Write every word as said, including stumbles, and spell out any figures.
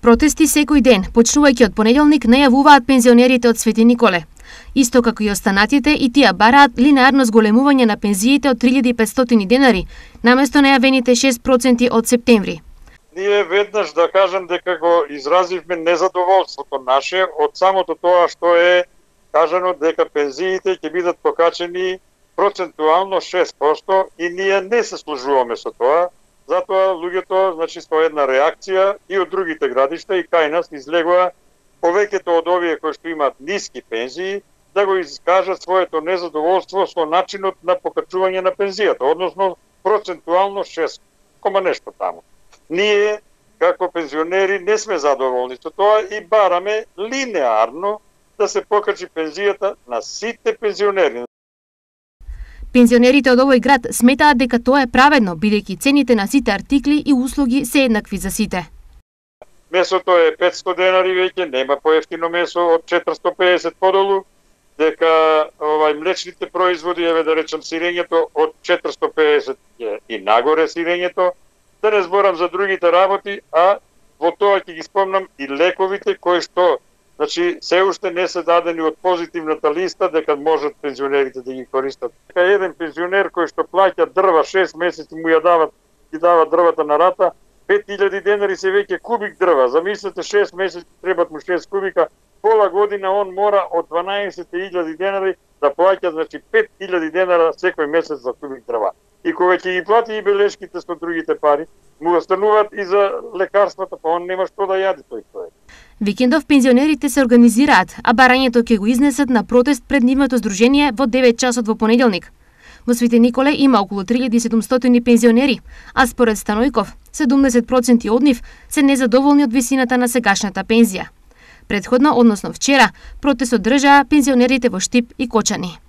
Протести секој ден, почнувајќи од понеделник, најавуваат пензионерите од Свети Николе. Исто како и останатите, и тие бараат линеарно зголемување на пензиите од три илјади и петстотини денари, наместо најавените шест проценти од септември. Ние веднаш да кажем дека го изразивме незадоволството наше од самото тоа што е кажано дека пензиите ќе бидат покачени процентуално шест проценти и ние не се служуваме со тоа. Затоа луѓето, значи, со една реакција и од другите градишта и кај нас излегува повеќето од овие кои што имаат ниски пензии да го искажат своето незадоволство со начинот на покачување на пензијата, односно процентуално шест кома нешто таму. Ние, како пензионери, не сме задоволни со тоа и бараме линеарно да се покачи пензијата на сите пензионери. Пензионерите од овој град сметаат дека тоа е праведно, бидејќи цените на сите артикли и услуги се еднакви за сите. Месото е петсто денари веќе, нема поевтино месо од четиристо и педесет подолу, дека овај млечните производи, еве да речем сирењето од четиристо и педесет и нагоре сирењето, да не зборам за другите работи, а во тоа ќе ги спомнам и лековите кои што, значи, се уште не се дадени од позитивната листа дека можат пензионерите да ги користат. Дека еден пензионер кој што плаќа дрва шест месеци му ја дават, ги дава дрвата на рата, пет илјади денари се веќе кубик дрва. Замислете, шест месеци требат му шест кубика, пола година он мора од дванаесет илјади денари да плаќа, значи пет илјади денара секој месец за кубик дрва. И кога ќе ги плати и белешките со другите пари, му остануваат и за лекарствата, па он нема што да јади тој човек. Викендов пензионерите се организираат, а барањето ќе го изнесат на протест пред нивното здружение во девет часот во понеделник. Во Свети Николе има околу три илјади и седумстотини пензионери, а според Станојков, седумдесет проценти од нив се незадоволни од висината на сегашната пензија. Претходно, односно вчера, протест одржаа пензионерите во Штип и Кочани.